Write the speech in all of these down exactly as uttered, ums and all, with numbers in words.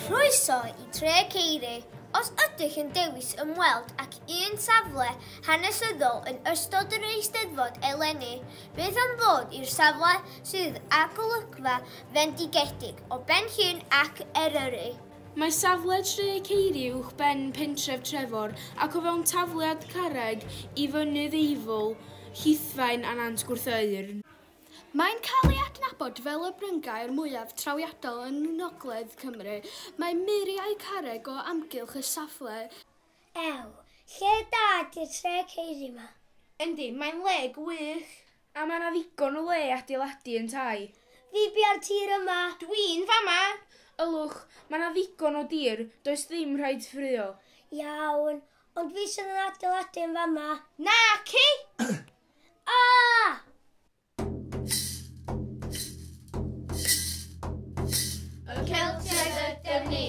Croeso i Tre Ceiri. Os ydych yn dewis ymweld ac un safle hanesyddol yn ystod yr Eisteddfod eleni, bydd am ddod i'r safle sydd â golygfa fendigedig o Ben Llŷn ac Eryri. Mae safle Tre Ceiri uwchben pentref Trefor ac o fewn tafliad carreg i Fynydd Eifl, Llithfaen a Nant Gwrtheyrn. Mae'n cael ei adnabod fel y bryngaer mwyaf trawiadol yn Ngogledd Cymru. Mae muriau carreg o amgylch y safle. Ew, lle da 'di'r Tre Ceiri 'ma? Yndi, mae'n le gwych. A mae 'na ddigon o le adeiladu yn tai. Fi bia'r tir yma. Dwi'n fama! Ylwch, mae 'na ddigon o dir, does ddim rhaid ffraeo. Iawn, ond fi sydd yn adeiladu yn fama. Naci! Ah! Y Celtiaid ydym ni.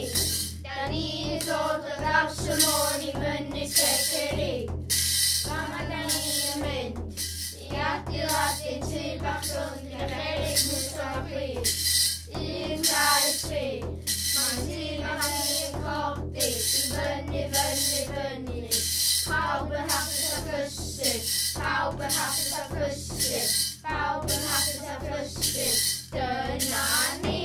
Da ni'n dod o draws y môr i fyny Tre Ceiri. Fama da ni yn mynd i adeiladu tŷ bach rownd gyda cherrig, mwsogl a plu. Un, dau, tri. Mae'n tŷ bach ni yn codi i fyny, fyny, fyny. Pawb yn hapus a prysur. Pawb yn hapus a prysur. Pawb yn hapus a prysur. Dyna ni.